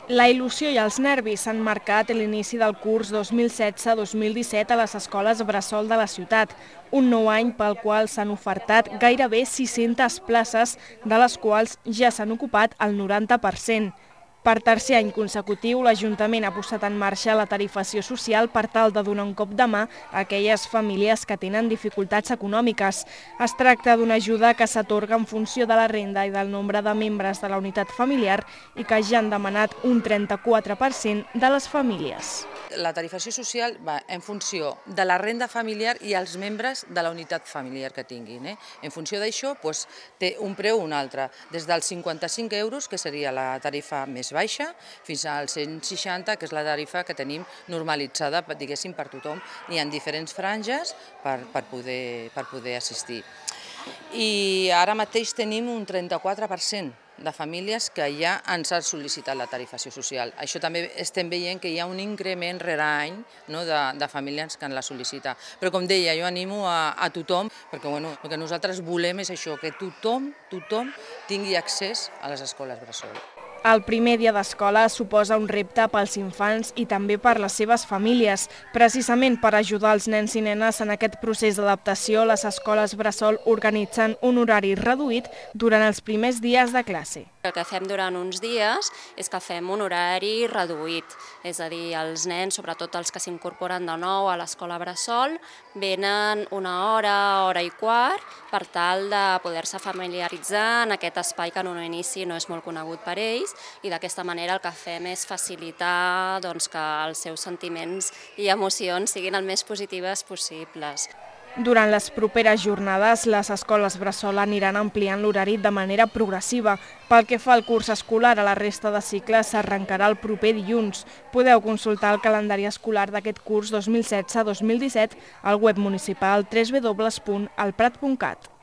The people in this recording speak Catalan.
La il·lusió i els nervis s'han marcat l'inici del curs 2016-2017 a les escoles bressol de la ciutat, un nou any pel qual s'han ofertat gairebé 600 places, de les quals ja s'han ocupat el 90%. Per tercer any consecutiu, l'Ajuntament ha posat en marxa la tarifació social per tal de donar un cop de mà a aquelles famílies que tenen dificultats econòmiques. Es tracta d'una ajuda que s'atorga en funció de la renda i del nombre de membres de la unitat familiar i que ja han demanat un 34% de les famílies. La tarifació social va en funció de la renda familiar i els membres de la unitat familiar que tinguin. En funció d'això té un preu o un altre, des dels 55 euros, que seria la tarifa més baixa, fins als 160, que és la tarifa que tenim normalitzada, diguéssim, per tothom. Hi ha diferents franges per poder assistir. I ara mateix tenim un 34% de famílies que ja ens han sol·licitat la tarifació social. Això també estem veient que hi ha un increment rere any de famílies que la sol·licita. Però com deia, jo animo a tothom, perquè el que nosaltres volem és això, que tothom tingui accés a les escoles bressol. El primer dia d'escola suposa un repte pels infants i també per les seves famílies. Precisament per ajudar els nens i nenes en aquest procés d'adaptació, les escoles bressol organitzen un horari reduït durant els primers dies de classe. El que fem durant uns dies és que fem un horari reduït, és a dir, els nens, sobretot els que s'incorporen de nou a l'escola bressol, venen una hora i quart, per tal de poder-se familiaritzar en aquest espai que en un inici no és molt conegut per ells, i d'aquesta manera el que fem és facilitar que els seus sentiments i emocions siguin el més positives possibles. Durant les properes jornades, les escoles bressol aniran ampliant l'horari de manera progressiva. Pel que fa al curs escolar, a la resta de cicles s'arrencarà el proper dilluns. Podeu consultar el calendari escolar d'aquest curs 2016-2017 al web municipal www.alprat.cat.